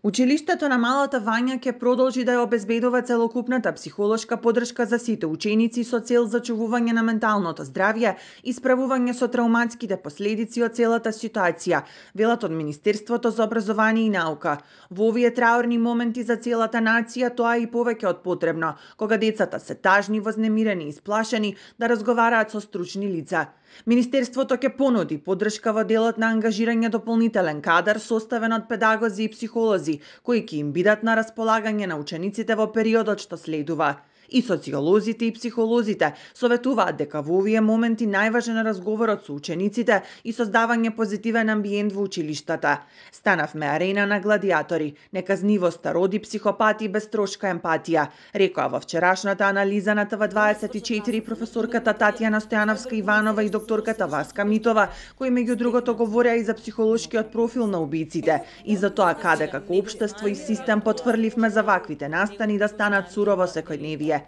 Училиштето на Малата Вања ќе продолжи да ја обезбедува целокупната психолошка поддршка за сите ученици со цел зачувување на менталното здравје и справување со трауматските последици од целата ситуација, велат од Министерството за образование и наука. Во овие траурни моменти за целата нација тоа е и повеќе од потребно, кога децата се тажни, вознемирени и сплашени да разговараат со стручни лица. Министерството ќе понуди поддршка во делот на ангажирање дополнителен кадар составен од педагози и психолози, кои ќе им бидат на располагање на учениците во периодот што следува. И социолозите и психолозите советуваат дека во овие моменти најважен е разговорот со учениците и создавање позитивен амбиент во училиштата. Станавме арена на гладиатори, неказнивоста роди психопати без трошка емпатија, рекоа во вчерашната анализа на ТВ24 професорката Татјана Стојановска Иванова и докторката Васка Митова, кои меѓу другото говореа и за психолошкиот профил на убиците и за тоа каде како општество и систем потврливме за ваквите настани да станат сурово секојдневие.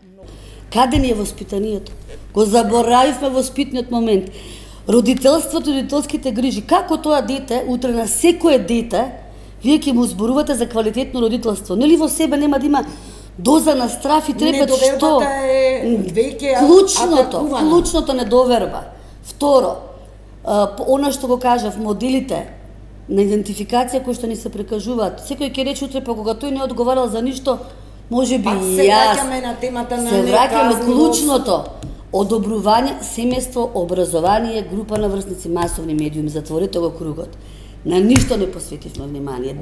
Каде ни е воспитанието? Го заборавивме воспитниот момент. Родителството, родителските грижи. Како тоа дете, утре на секое дете, вие ќе му зборувате за квалитетно родителство. Нели во себе нема да има доза на страф и трепет што? Клучното недоверба. Второ, она што го кажав, моделите на идентификација кои што ни се прикажуваат. Секој ќе рече утре, па кога тој не одговарал за ништо, може би се враќаме на темата на клучното одобрување, семејство, образование, група на врсници, масовни медиуми, затворете го кругот. На ништо не посветивме внимание.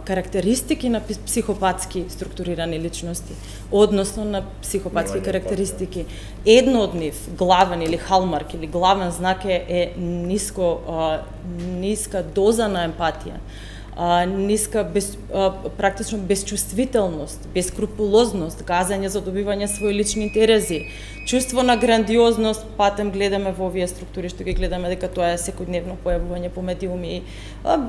Карактеристики на психопатски структурирани личности, односно на психопатски карактеристики. Едно од нив, главен или халмарк или главен знак е ниска доза на емпатија. Практично безчувствителност, бескрупулозност, газење за добивање своји лични интереси, чувство на грандиозност, патем гледаме во овие структури што ги гледаме дека тоа е секојдневно појавување по медиуми,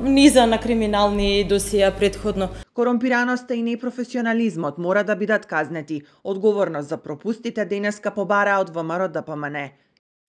низа на криминални досија претходно. Корумпираноста и непрофесионализмот мора да бидат казнети. Одговорност за пропустите денеска побараа од ВМРО-ДПМН.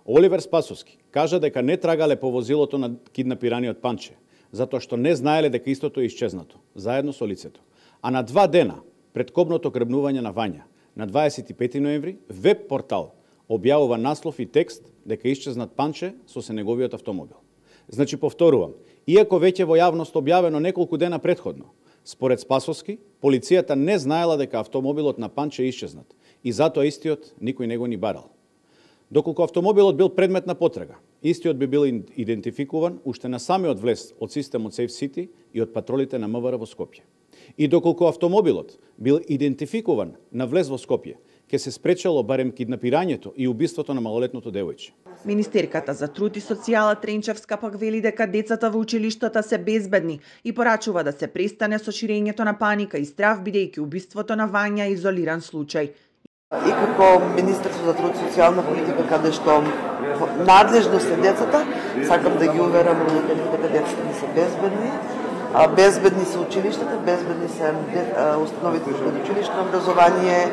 Оливер Спасовски кажа дека не трагале по возилото на киднапираниот Панче, затоа што не знаеле дека истото е исчезнато, заедно со лицето. А на 2 дена пред кобното гребнување на Вања, на 25 ноември, веб портал објавува наслов и текст дека исчезнат Панче со неговиот автомобил. Значи, повторувам, иако веќе во јавност објавено неколку дена претходно, според Спасовски, полицијата не знаела дека автомобилот на Панче е исчезнат и затоа истиот никој не го ни барал. Доколку автомобилот бил предмет на потрага, истиот би бил идентификуван уште на самиот влез од системот Safe City и од патролите на МВР во Скопје. И доколку автомобилот бил идентификуван на влез во Скопје, ќе се спречело барем киднапирањето и убиството на малолетното девојче. Министерката за труд и социјала Тренчевска пак вели дека децата во училиштата се безбедни и порачува да се престане со ширењето на паника и страв, бидејќи убиството на Вања е изолиран случај. И како Министерство за труд и социјална политика, каде што надлежност е децата, сакам да ги уверам родителите дека децата не се безбедни. Безбедни се училиштата, безбедни се установите за предучилишно образование.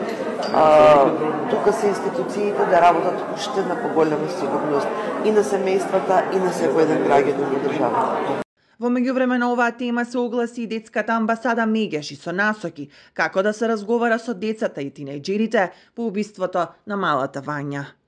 Тука се институциите да работат уште на поголема сигурност и на семејствата и на секој еден граѓанин во државата. Во меѓувреме на оваа тема се огласи и детската амбасада Мегеш и со насоки како да се разговара со децата и тинејџерите по убиството на Малата Вања.